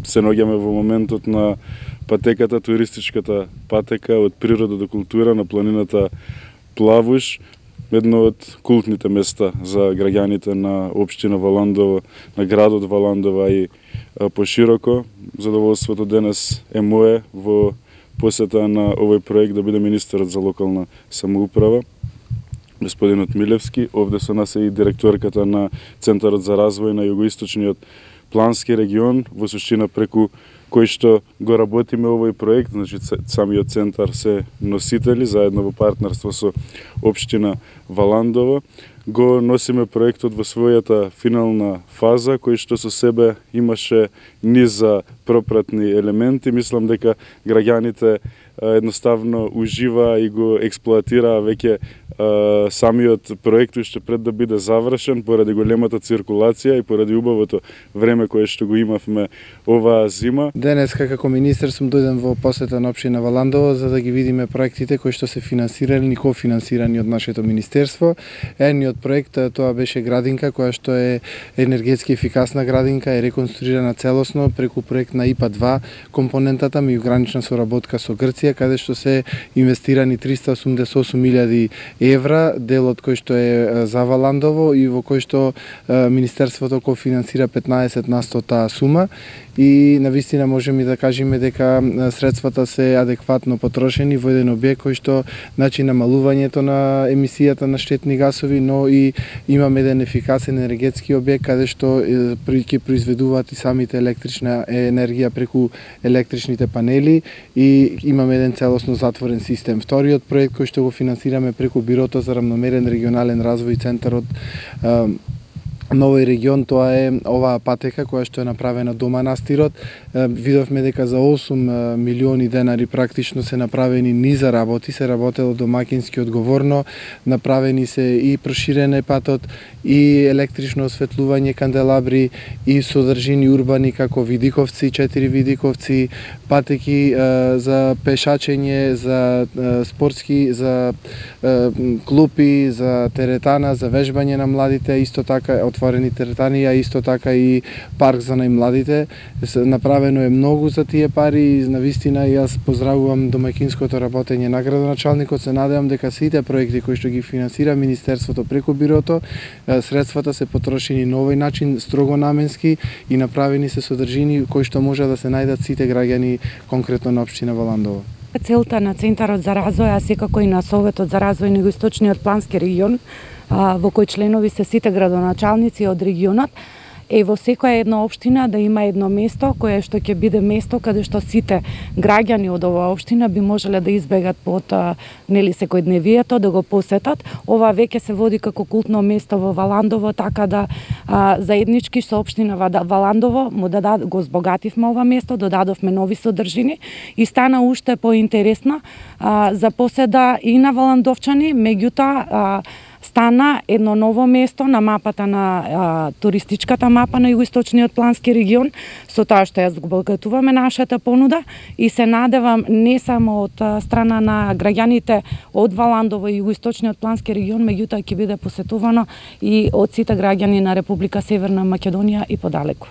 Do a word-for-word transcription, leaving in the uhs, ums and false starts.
се наоѓаме во моментот на патеката, туристичката патека од природа до култура на планината Плавуш, едно од култните места за граѓаните на општина Валандово, на градот Валандово и пошироко. Задоволството денес е мое во посета на овој проект да биде министерот за локална самоуправа, господинот Милевски. Овде со нас е и директорката на Центарот за развој на југоисточниот плански регион, во суштина преку кој што го работиме овој проект, значи самиот центар се носители, заедно во партнерство со општина Валандово. Го носиме проектот во својата финална фаза, кој што со себе имаше низа пропратни елементи. Мислам дека граѓаните едноставно ужива и го експлоатираа веќе самиот проект уште пред да биде завршен, поради големата циркулација и поради убавото време кое што го имавме оваа зима. Денес како министер сум дојден во посета на општина Валандово за да ги видиме проектите кои што се финансирани и кофинансирани од нашето министерство. Едниот проект тоа беше градинка која што е енергетски ефикасна градинка, е реконструирана целосно преку проект на ИПА два, компонентата меѓугранична соработка со Грција, каде што се инвестирани триста осумдесет и осум илјади евра, делот кој што е за Валандово и во кој што министерството кофинансира петнаесет на сто таа сума. И навистина можеме да кажеме дека средствата се адекватно потрошени во еден објект кој што значи намалувањето на емисијата на штетни гасови, но и имаме еден ефикасен енергетски објект каде што ќе произведуваат и самите електрична енергија преку електричните панели и имаме еден целосно затворен систем. Вториот проект кој што го финансираме преку Бирото за рамномерен регионален развој, центарот на овој регион, тоа е оваа патека која што е направена до манастирот. Видовме дека за осум милиони денари практично се направени низа работи, се работело домакински одговорно, направени се и проширен патот, и електрично осветлување канделабри, и содржини урбани како видиковци, четири видиковци, патеки за пешачење, за спортски, за клупи, за теретана, за вежбање на младите, исто така отворени теретани, а исто така и парк за најмладите. Направено е многу за тие пари и навистина јас поздравувам домаќинското работење на градоначалникот. Се надевам дека сите проекти кои што ги финансира министерството преку Бирото, средствата се потрошени на овој начин, строго наменски и направени се содржини кои што може да се најдат сите граѓани конкретно на општина Валандово. Целта на Центарот за развој, а секако и на Советот за развој на Југоисточниот плански регион, во кој членови се сите градоначалници од регионот, е во секоја една општина да има едно место кое што ќе биде место каде што сите граѓани од оваа општина би можеле да избегат под нели секојдневието, да го посетат. Ова веќе се води како култно место во Валандово, така да а, заеднички со општина Валандово му дадат, го збогативме ова место, додадовме нови содржини и стана уште поинтересно а, за поседа и на валандовчани, меѓутоа а, стана едно ново место на мапата на а, туристичката мапа на Југоисточниот плански регион, со тоа што ја збогатуваме нашата понуда и се надевам не само од страна на граѓаните од Валандово и Југоисточниот плански регион, меѓутоа ќе биде посетувано и од сите граѓани на Република Северна Македонија и подалеку.